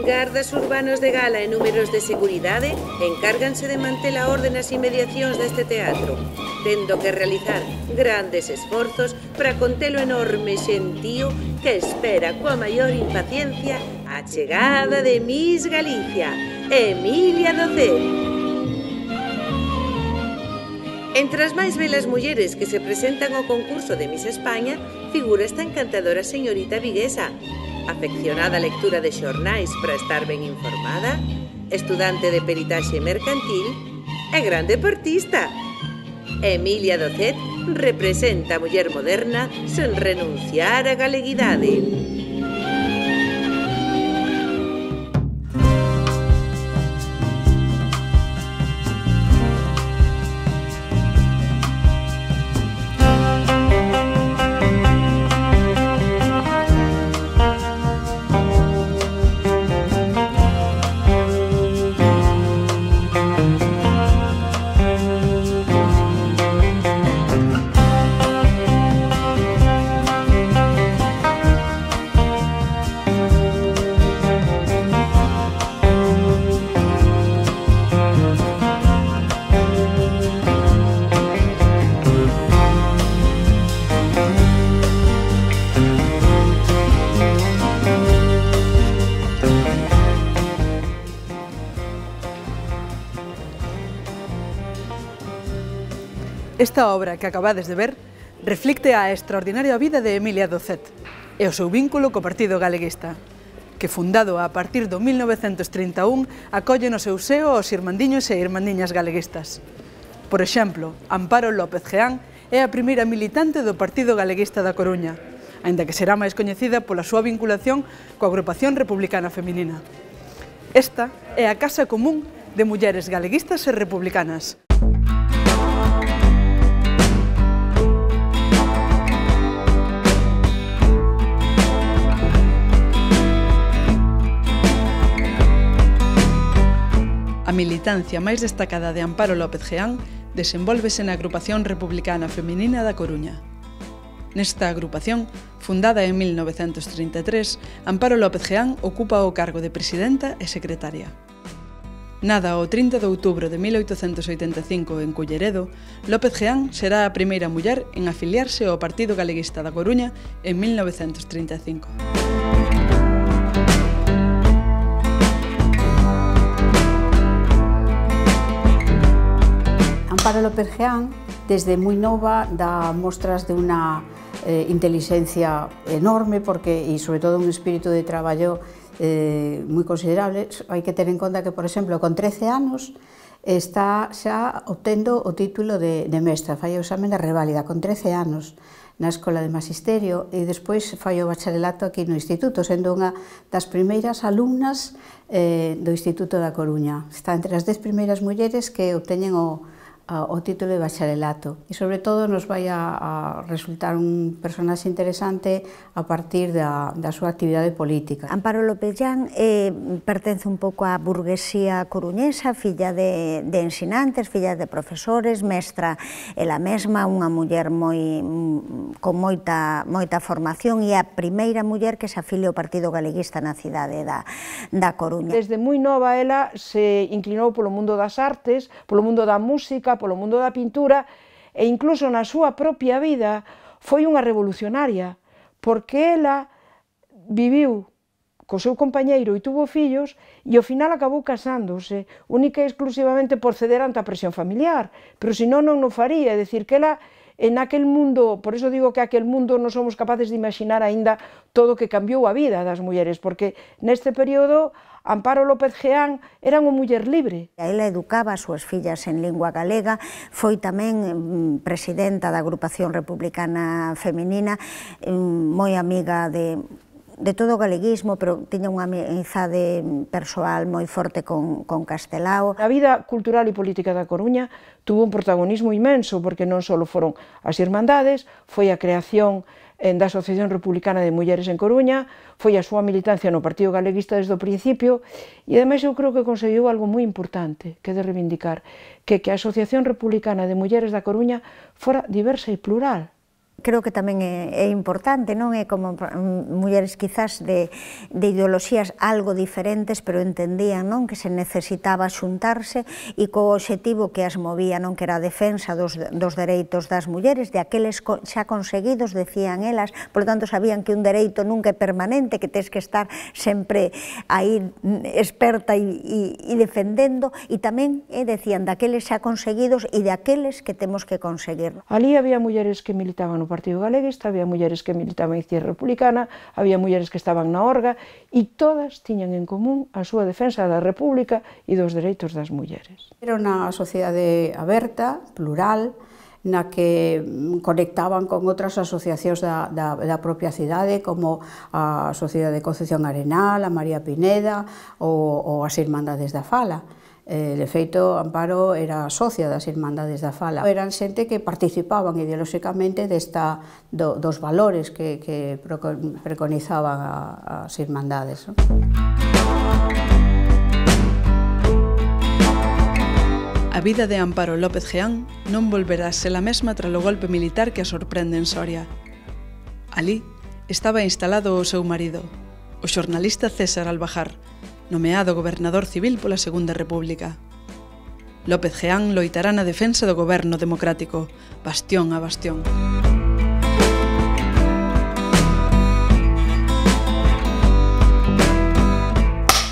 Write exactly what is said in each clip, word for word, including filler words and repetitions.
Gardas urbanos de gala e números de seguridade encárganse de manter a orde nas inmediacións deste teatro, tendo que realizar grandes esforzos para conter o enorme xentío que espera coa maior impaciencia a chegada de Miss Galicia, Emilia Docet. Entre as máis belas mulleres que se presentan ao concurso de Miss España figura esta encantadora señorita viguesa, afeccionada á lectura de xornais para estar ben informada, estudante de peritaxe mercantil e gran deportista. Emilia Docet representa a muller moderna sen renunciar á galeguidade. Esta obra que acabades de ver reflicte a extraordinaria vida de Emilia Docet e o seu vínculo co Partido Galeguista, que fundado a partir do mil novecentos trinta e un acolle no seu seo aos irmandiños e irmandiñas galeguistas. Por exemplo, Amparo López Geán é a primeira militante do Partido Galeguista da Coruña, aínda que será máis coñecida pola súa vinculación coa Agrupación Republicana Feminina. Esta é a Casa Común de Mulleres Galeguistas e Republicanas. A militancia máis destacada de Amparo López Geán desenvólvese na Agrupación Republicana Feminina da Coruña. Nesta agrupación, fundada en mil novecentos trinta e tres, Amparo López Geán ocupa o cargo de presidenta e secretaria. Nada o trinta de outubro de mil oitocentos oitenta e cinco en Culleredo, López Geán será a primeira muller en afiliarse ao Partido Galeguista da Coruña en mil novecentos trinta e cinco. Amparo López Geán, desde moi nova, dá mostras de unha eh, inteligencia enorme porque, e sobre todo un espírito de traballo eh, moi considerable. Hai que ter en conta que, por exemplo, con trece anos está xa obtendo o título de, de mestra, fai o examen de reválida con trece anos na Escola de Magisterio e despois fai o bacharelato aquí no Instituto, sendo unha das primeiras alumnas eh, do Instituto da Coruña. Está entre as dez primeiras mulleres que obteñen o o título de bacharelato e sobre todo nos vai a, a resultar un personaxe interesante a partir da, da súa actividade política. Amparo López Geán eh, pertence un pouco á burguesía coruñesa, filla de, de ensinantes, filla de profesores, mestra ela mesma, unha muller moi, con moita, moita formación e a primeira muller que se afilia ao Partido Galeguista na cidade da, da Coruña. Desde moi nova ela se inclinou polo mundo das artes, polo mundo da música, polo mundo da pintura e incluso na súa propia vida foi unha revolucionaria porque ela viviu co seu compañeiro e tuvo fillos e ao final acabou casándose única e exclusivamente por ceder ante a presión familiar, pero senón non o faría, é dicir que ela en aquel mundo, por iso digo que aquel mundo non somos capaces de imaginar aínda todo o que cambiou a vida das mulleres, porque neste período Amparo López Geán era unha muller libre. Ela educaba as súas fillas en lingua galega, foi tamén presidenta da Agrupación Republicana Feminina, moi amiga de de todo o galeguismo, pero tiña unha amizade persoal moi forte con, con Castelao. A vida cultural e política da Coruña tuvo un protagonismo inmenso, porque non só foron as irmandades, foi a creación da Asociación Republicana de Mulleres en Coruña, foi a súa militancia no Partido Galeguista desde o principio, e ademais eu creo que conseguiu algo moi importante, que é de reivindicar, que, que a Asociación Republicana de Mulleres da Coruña fora diversa e plural. Creo que tamén é, é importante, non é como mulleres quizás de, de ideoloxías algo diferentes, pero entendían, non, que se necesitaba xuntarse e co obxectivo que as movía, non, que era a defensa dos, dos dereitos das mulleres, de aqueles xa conseguidos, decían elas, por lo tanto sabían que un dereito nunca é permanente, que tens que estar sempre aí experta e, e, e defendendo, e tamén eh, decían daqueles xa conseguidos e de aqueles que temos que conseguir. Ali había mulleres que militaban no Partido Galeguista, había mulleres que militaban en Izquierda Republicana, había mulleres que estaban na Orga, e todas tiñan en común a súa defensa da República e dos dereitos das mulleres. Era unha sociedade aberta, plural, na que conectaban con outras asociacións da, da, da propia cidade, como a Sociedade de Concepción Arenal, a María Pineda ou, ou as Irmandades da Fala. De feito, Amparo era socia das Irmandades da Fala. Eran xente que participaban ideolóxicamente desta, do, dos valores que, que preconizaban a, as Irmandades. A vida de Amparo López Geán non volverá a ser a mesma tras o golpe militar que a sorprende en Soria. Alí estaba instalado o seu marido, o xornalista César Albajar, nomeado gobernador civil pola Segunda República. López Geán loitará na defensa do goberno democrático, bastión a bastión.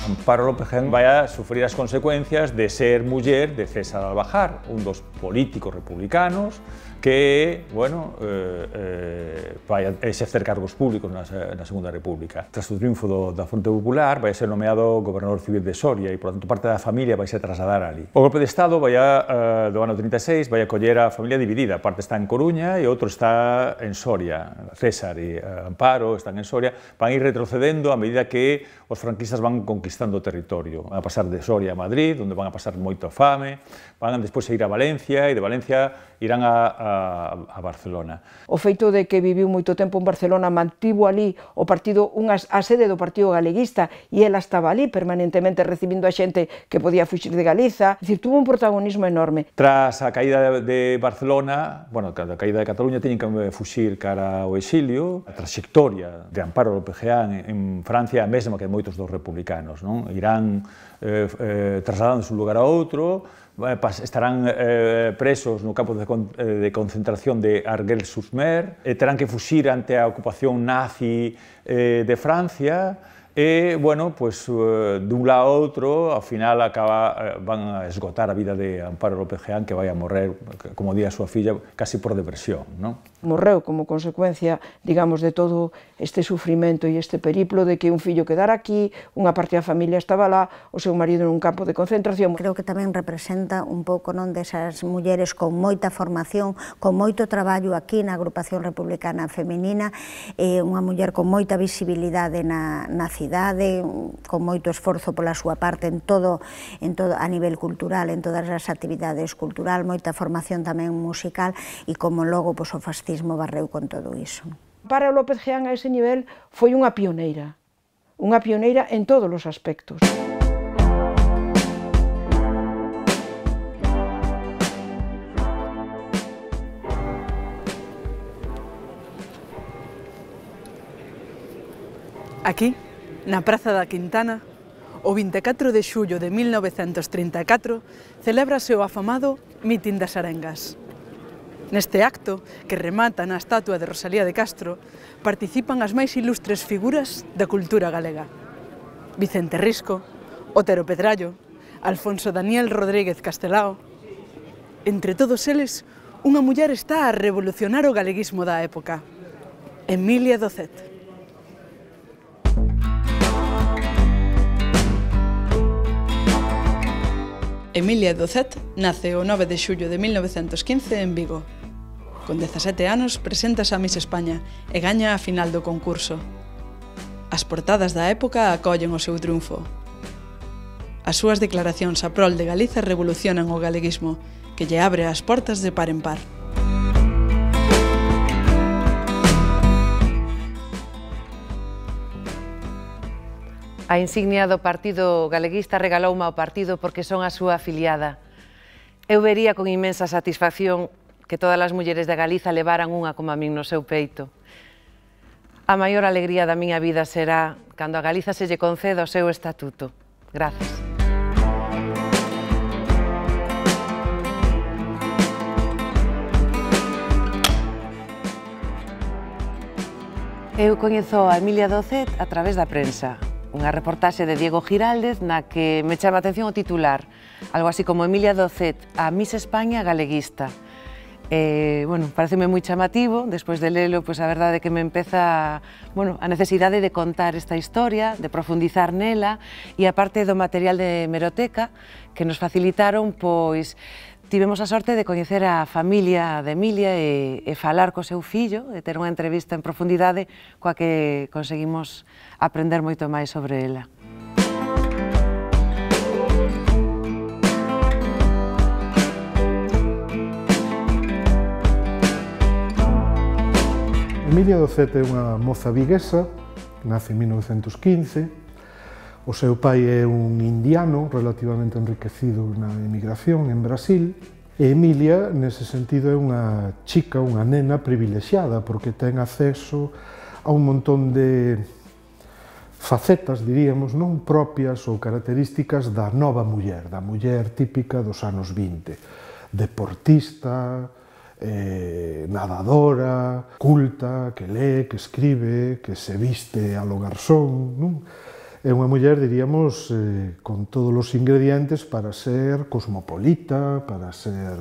Amparo López Geán vai a sufrir as consecuencias de ser muller de César Albajar, un dos políticos republicanos que, bueno, eh, eh, vai a exercer cargos públicos na, na Segunda República. Tras o triunfo do, da Fronte Popular, vai a ser nomeado gobernador civil de Soria e, por tanto, parte da familia vai se trasladar ali. O golpe de Estado vai a, eh, do ano trinta e seis vai a coller a familia dividida. Parte está en Coruña e outro está en Soria. César e eh, Amparo están en Soria. Van a ir retrocedendo a medida que os franquistas van conquistando o territorio. Van a pasar de Soria a Madrid, onde van a pasar moito fame, van despois a ir a Valencia e de Valencia irán a, a a Barcelona. O feito de que viviu moito tempo en Barcelona mantivo ali o partido, unha, a sede do Partido Galeguista, e ela estaba ali permanentemente recibindo a xente que podía fuxir de Galiza, é dicir, tuvo un protagonismo enorme. Tras a caída de Barcelona, bueno, a caída de Cataluña, teñen que fuxir cara ao exilio. A trayectoria de Amparo López Geán en Francia é a mesma que moitos dos republicanos, non? Irán eh, eh, trasladándose un lugar a outro, estarán eh, presos no campo de, con, de concentración de Argel-sur-Mer, e terán que fuxir ante a ocupación nazi eh, de Francia, e, bueno, pues, uh, dun lado a outro, ao final acaba, uh, van a esgotar a vida de Amparo López Geán, que vai a morrer, como di a súa filla, casi por depresión, non? Morreu como consecuencia, digamos, de todo este sufrimento e este periplo de que un fillo quedara aquí, unha parte da familia estaba lá, o seu marido nun campo de concentración. Creo que tamén representa un pouco, non, desas mulleres con moita formación, con moito traballo aquí na Agrupación Republicana Feminina, eh, unha muller con moita visibilidade na, na cidade, con moito esforzo pola súa parte en todo, en todo a nivel cultural, en todas as actividades cultural, moita formación tamén musical, e como logo pois, o fascismo barreu con todo iso. Para López Geán a ese nivel foi unha pioneira, unha pioneira en todos os aspectos. Aquí, na Praza da Quintana, o vinte e catro de xullo de mil novecentos trinta e catro, celébrase o afamado Mitin das Arengas. Neste acto, que remata na estatua de Rosalía de Castro, participan as máis ilustres figuras da cultura galega. Vicente Risco, Otero Pedrallo, Alfonso Daniel Rodríguez Castelao. Entre todos eles, unha muller está a revolucionar o galeguismo da época, Emilia Docet. Emilia Docet nace o nove de xullo de mil novecentos quince en Vigo. Con dezasete anos preséntase a Miss España e gaña a final do concurso. As portadas da época acollen o seu triunfo. As súas declaracións a prol de Galiza revolucionan o galeguismo, que lle abre as portas de par en par. A insignia do Partido Galeguista regaloume ao partido porque son a súa afiliada. Eu vería con inmensa satisfacción que todas as mulleres de Galiza levaran unha como a min no seu peito. A maior alegría da miña vida será cando a Galiza se lle conceda o seu estatuto. Grazas. Eu coñezo a Emilia Docet a través da prensa. Unha reportaxe de Diego Giraldez na que me chama a atención o titular, algo así como Emilia Docet, a Miss España galeguista. Eh, bueno, pareceme moi chamativo, despois de lelo, pois a verdade é que me empeza bueno, a necesidade de contar esta historia, de profundizar nela, e a parte do material de hemeroteca que nos facilitaron, pois, tivemos a sorte de coñecer a familia de Emilia e, e falar co seu fillo, e ter unha entrevista en profundidade coa que conseguimos aprender moito máis sobre ela. Emilia Docet é unha moza viguesa, nace en mil novecentos quince, o seu pai é un indiano relativamente enriquecido na emigración en Brasil, e Emilia, nese sentido, é unha chica, unha nena privilexiada, porque ten acceso a un montón de facetas, diríamos, non propias ou características da nova muller, da muller típica dos anos vinte. Deportista, eh, nadadora, culta, que lee, que escribe, que se viste a lo garzón, non? É unha muller, diríamos, eh, con todos os ingredientes para ser cosmopolita, para ser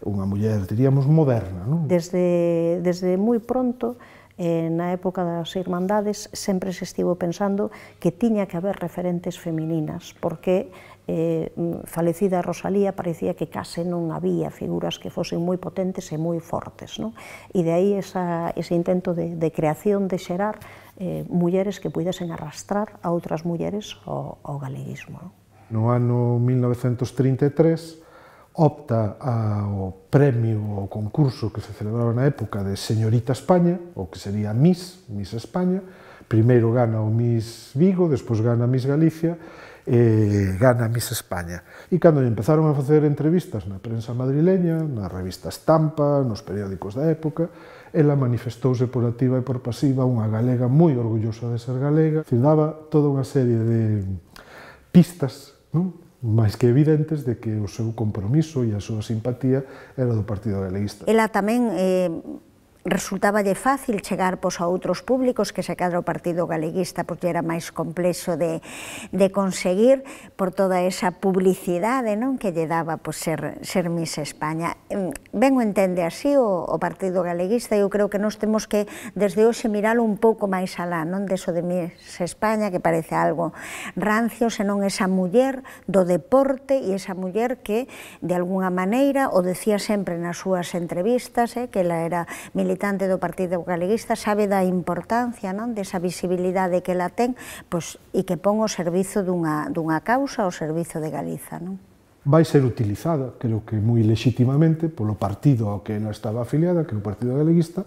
unha muller, diríamos, moderna, non? Desde, desde moi pronto, eh, na época das Irmandades, sempre se estivo pensando que tiña que haber referentes femininas, porque eh, falecida Rosalía parecía que case non había figuras que fosen moi potentes e moi fortes, non? E de aí esa, ese intento de, de creación, de xerar eh, mulleres que puidesen arrastrar a outras mulleres ao, ao galeguismo. Non? No ano mil novecentos trinta e tres opta ao premio, ao concurso que se celebraba na época de Señorita España, o que sería Miss, Miss España. Primeiro gana o Miss Vigo, despois gana Miss Galicia, e gana Miss España. E cando empezaron a facer entrevistas na prensa madrileña, na revista Estampa, nos periódicos da época, ela manifestouse por activa e por pasiva unha galega moi orgullosa de ser galega, que daba toda unha serie de pistas, non? máis que evidentes, de que o seu compromiso e a súa simpatía era do Partido Galeguista. Ela tamén eh, resultáballe fácil chegar pois, a outros públicos que se cadra o Partido Galeguista, porque era máis complexo de, de conseguir por toda esa publicidade, non, que lle daba pois, ser, ser Miss España. Ben o entende así o, o Partido Galeguista, eu creo que nós temos que desde hoxe miralo un pouco máis alá, non deso de Miss España, que parece algo rancio, senón esa muller do deporte e esa muller que, de alguna maneira, o decía sempre nas súas entrevistas, eh, que ela era militante militante do Partido Galeguista, sabe da importancia, non, desa visibilidade que ela ten, pois, e que pon o servizo dunha, dunha causa, o servizo de Galiza, non? Vai ser utilizada, creo que moi legitimamente, polo partido ao que ela estaba afiliada, que é o Partido Galeguista,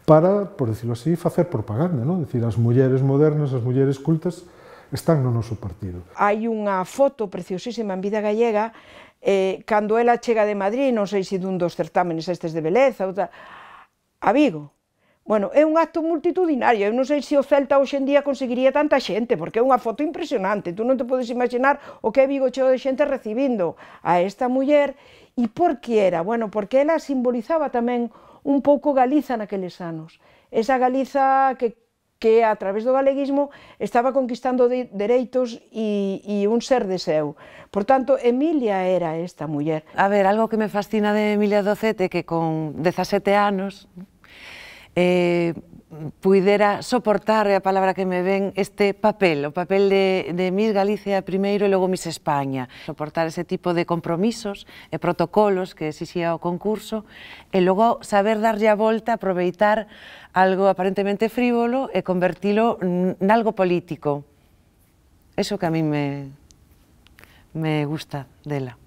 para, por decirlo así, facer propaganda, non? Decir, as mulleres modernas, as mulleres cultas, están no noso partido. Hai unha foto preciosísima en Vida Gallega, eh, cando ela chega de Madrid, non sei se dun dos certámenes estes de beleza, outra, a Vigo. Bueno, é un acto multitudinario, eu non sei se o Celta hoxe en día conseguiría tanta xente, porque é unha foto impresionante, tú non te podes imaginar o que é Vigo cheo de xente recibindo a esta muller. E por que era? Bueno, porque ela simbolizaba tamén un pouco Galiza naqueles anos, esa Galiza que, que a través do galeguismo estaba conquistando de, dereitos e, e un ser de seu. Por tanto, Emilia era esta muller. A ver, algo que me fascina de Emilia Docet é que con dezasete anos eh, puidera soportar, é a palabra que me ven, este papel, o papel de, de Miss Galicia primeiro e logo Miss España. Soportar ese tipo de compromisos e protocolos que exixía o concurso e logo saber darlle a volta, aproveitar algo aparentemente frívolo e convertilo nalgo político. Eso que a mí me, me gusta dela.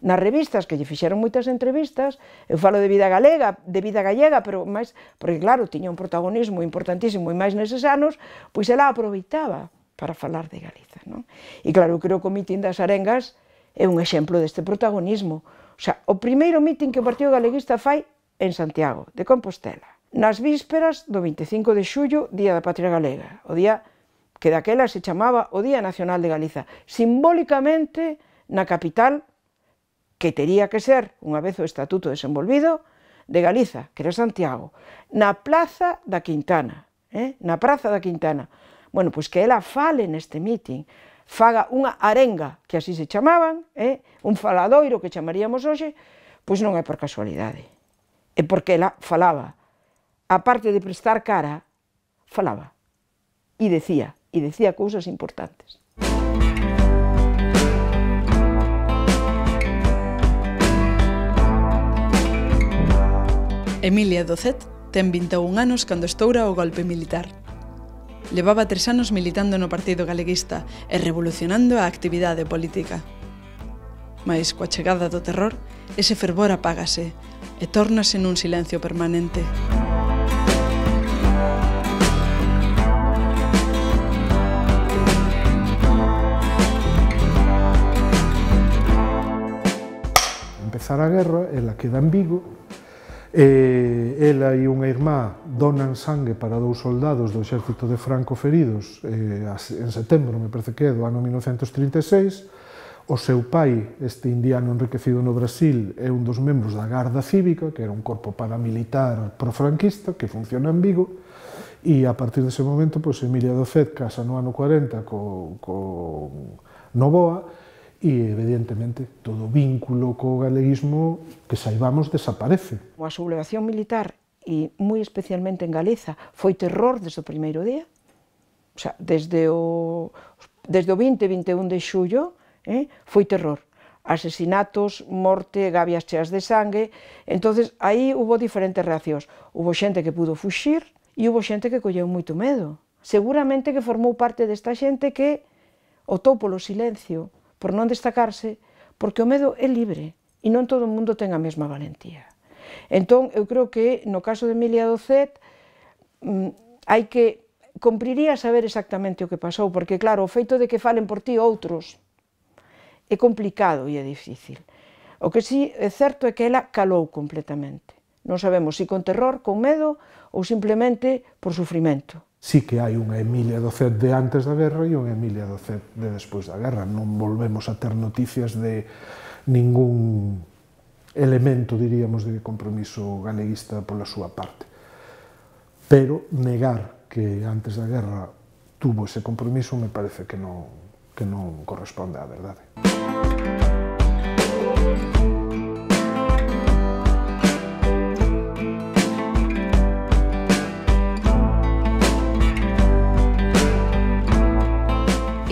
Nas revistas, que lle fixeron moitas entrevistas, eu falo de Vida Galega, de Vida Gallega, pero máis, porque claro, tiña un protagonismo importantísimo e máis neses anos, pois ela aproveitaba para falar de Galiza, non? E claro, eu creo que o mitin das Arengas é un exemplo deste protagonismo. O sea, o primeiro mitin que o Partido Galeguista fai en Santiago de Compostela, nas vísperas do vinte e cinco de xullo, Día da Patria Galega, o día que daquela se chamaba o Día Nacional de Galiza, simbólicamente na capital, que tería que ser, unha vez o estatuto desenvolvido, de Galiza, que era Santiago, na Praza da Quintana, eh? na Praza da Quintana. Bueno, pois que ela fale neste mitin, faga unha arenga, que así se chamaban, eh? un faladoiro que chamaríamos hoxe, pois non é por casualidade. É porque ela falaba, aparte de prestar cara, falaba. E decía, e decía cousas importantes. Emilia Docet ten vinte e un anos cando estoura o golpe militar. Levaba tres anos militando no Partido Galeguista e revolucionando a actividade política. Mais coa chegada do terror, ese fervor apágase e tórnase nun silencio permanente. Empezar a guerra, ela queda en Vigo, e ela e unha irmá donan sangue para dous soldados do exército de Franco feridos eh, en setembro, me parece que é, do ano mil novecentos trinta e seis. O seu pai, este indiano enriquecido no Brasil, é un dos membros da Garda Cívica, que era un corpo paramilitar profranquista que funciona en Vigo, e a partir dese momento, pois, Emilia Docet casa no ano cuarenta co, co Novoa, e, evidentemente, todo vínculo co galeguismo que saibamos desaparece. A sublevación militar, e moi especialmente en Galiza, foi terror desde o primeiro día. O sea, desde o, desde o vinte e vinte e un de xullo, eh, foi terror. Asesinatos, morte, gabias cheas de sangue. Entonces, aí hubo diferentes reaccións. Hubo xente que pudo fuxir e hubo xente que colleu moito medo. Seguramente que formou parte desta xente que optou polo silencio, por non destacarse, porque o medo é libre e non todo o mundo ten a mesma valentía. Entón, eu creo que no caso de Emilia Docet hai que, cumpriría saber exactamente o que pasou, porque claro, o feito de que falen por ti outros é complicado e é difícil. O que sí é certo é que ela calou completamente. Non sabemos se con terror, con medo ou simplemente por sufrimento. Sí que hai unha Emilia Docet de antes da guerra e unha Emilia Docet de despois da guerra. Non volvemos a ter noticias de ningún elemento, diríamos, de compromiso galeguista pola súa parte. Pero negar que antes da guerra tuvo ese compromiso me parece que non, que non corresponde á verdade.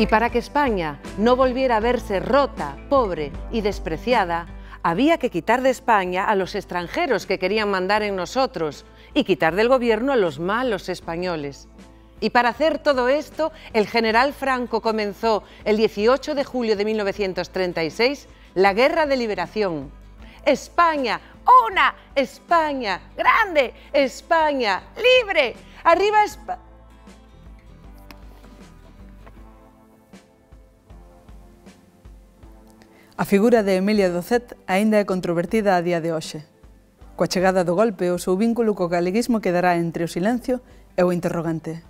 Y para que España no volviera a verse rota, pobre y despreciada, había que quitar de España a los extranjeros que querían mandar en nosotros y quitar del gobierno a los malos españoles. Y para hacer todo esto, el general Franco comenzó el dieciocho de julio de mil novecientos treinta y seis la Guerra de Liberación. España, una España grande, España libre, arriba España. A figura de Emilia Docet aínda é controvertida a día de hoxe. Coa chegada do golpe, o seu vínculo co galeguismo quedará entre o silencio e o interrogante.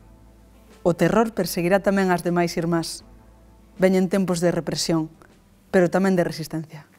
O terror perseguirá tamén as demais irmás. Veñen tempos de represión, pero tamén de resistencia.